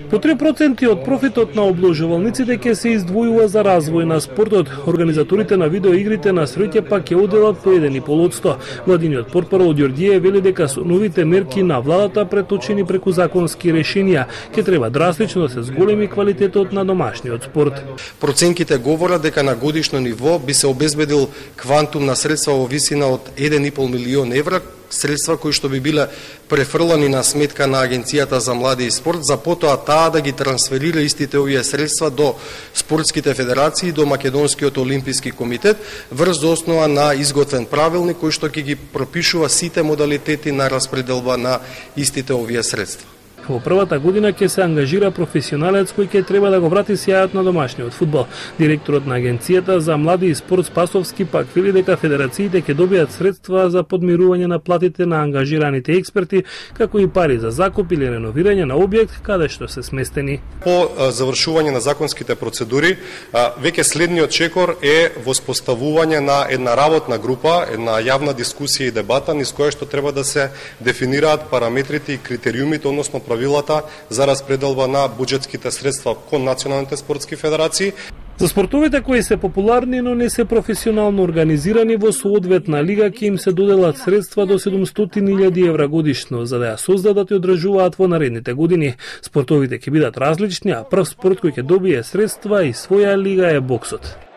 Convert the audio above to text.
По 3% од профитот на обложувалниците ќе се издвојува за развој на спортот. Организаторите на видеоигрите на среќа пак ќе одделат по 1,5%. Владиниот портпарол Ѓорѓије вели дека со новите мерки на владата преточени преку законски решенија ќе треба драстично да се зголеми квалитетот на домашниот спорт. Проценките говорат дека на годишно ниво би се обезбедил квантум на средства во висина од 1,5 милион евра, средства кои што би биле префрлани на сметка на Агенцијата за млади и спорт, за потоа таа да ги трансферира истите овие средства до спортските федерации и до Македонскиот олимписки комитет врз основа на изготвен правилник кој што ќе ги пропишува сите модалитети на распределба на истите овие средства. Во првата година ќе се ангажира професионалец кој ќе треба да го врати сјајот на домашниот фудбал. Директорот на Агенцијата за млади и спорт Спасовски пак вели дека федерациите ќе добијат средства за подмирување на платите на ангажираните експерти, како и пари за закуп или реновирање на објект каде што се сместени. По завршување на законските процедури, веќе следниот чекор е воспоставување на една работна група, една јавна дискусија и дебата низ која што треба да се дефинираат параметрите и критериумите, односно правилата за распределба на буџетските средства кон националните спортски федерации. За спортовите кои се популарни, но не се професионално организирани, во соодветна лига ќе им се доделат средства до 700.000 евра годишно, за да ја создадат и одржуваат во наредните години. Спортовите ќе бидат различни, а прв спорт кој ќе добие средства и своја лига е боксот.